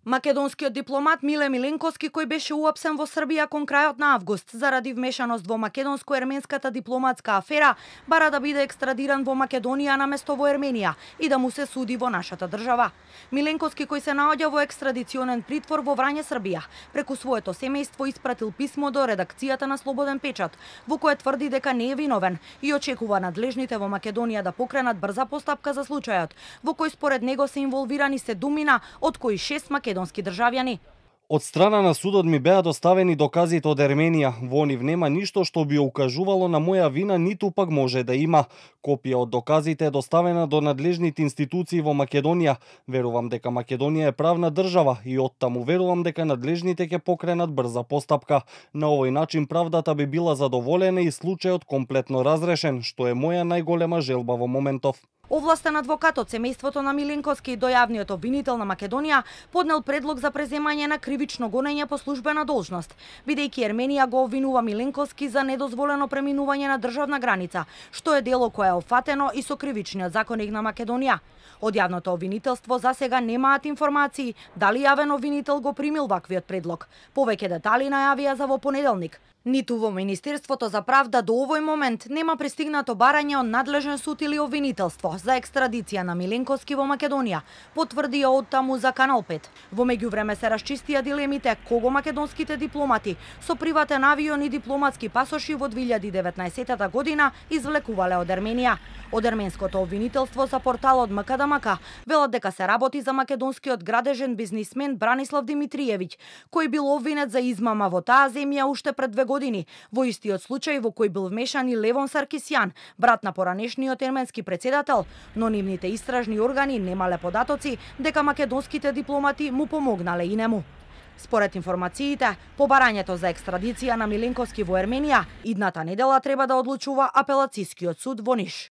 Македонскиот дипломат Миле Миленковски, кој беше уапсен во Србија кон крајот на август заради вмешаност во македонско-ерменската дипломатска афера, бара да биде екстрадиран во Македонија наместо во Ерменија и да му се суди во нашата држава. Миленковски, кој се наоѓа во екстрадиционен притвор во Врање, Србија, преку своето семејство испратил писмо до редакцијата на Слободен печат, во кое тврди дека не е виновен и очекува надлежните во Македонија да покренат брза постапка за случајот, во кој според него се инволвирани 7, од кои 6 македонски државјани. Од страна на судот ми беа доставени доказите од Ерменија. Во нив нема ништо што би укажувало на моја вина, ниту пак може да има. Копија од доказите е доставена до надлежните институции во Македонија. Верувам дека Македонија е правна држава и оттаму верувам дека надлежните ќе покренат брза постапка. На овој начин правдата би била задоволена и случајот комплетно разрешен, што е моја најголема желба во моментов. Овластен адвокат од семејството на Миленковски до јавниот обвинител на Македонија поднел предлог за преземање на кривично гонење по службена должност, бидејќи Ерменија го обвинува Миленковски за недозволено преминување на државна граница, што е дело кое е опфатено и со кривичниот законник на Македонија. Од јавното обвинителство засега немаат информации дали јавен обвинител го примил ваквиот предлог. Повеќе детали најавија за во понеделник. Ниту во Министерството за правда до овој момент нема пристигнато барање од надлежен суд или обвинителство за екстрадиција на Миленковски во Македонија, потврдија од таму за Канал 5. Во меѓувреме се расчистија дилемите кого македонските дипломати со приватен авион и дипломатски пасоши во 2019 година извлекувале од Ерменија. Од ерменското обвинителство за порталот МКДМК велат дека се работи за македонскиот градежен бизнисмен Бранислав Димитриевиќ, кој бил обвинет за измама во таа земја уште пред 2 години, во истиот случај во кој бил вмешан и Левон Саркисјан, брат на поранешниот ерменски председател, но нивните истражни органи немале податоци дека македонските дипломати му помогнале и нему. Според информациите, по барањето за екстрадиција на Миленковски во Ерменија, идната недела треба да одлучува апелацискиот суд во Ниш.